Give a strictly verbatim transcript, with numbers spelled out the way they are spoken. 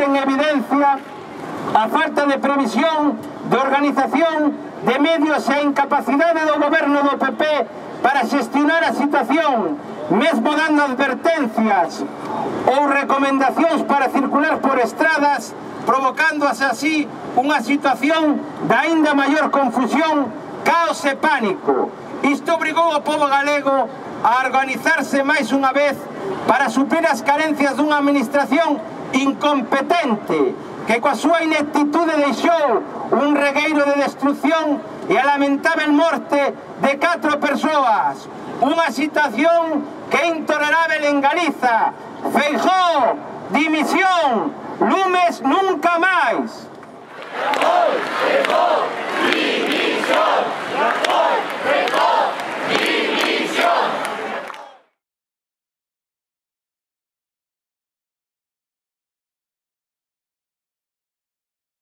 en evidencia a falta de previsión, de organización, de medios e a incapacidade do goberno do P P para xestionar a situación, mesmo dando advertencias ou recomendacións para circular por estradas, provocándose así unha situación de aínda maior confusión, caos e pánico. Isto obrigou ao pobo galego a organizarse máis unha vez para suplir as carencias dunha administración incompetente que coa súa ineptitude deixou un regueiro de destrucción e a lamentável morte de catro persoas. Unha situación que é intolerável en Galiza. Feijóo, dimisión, lumes nunca máis.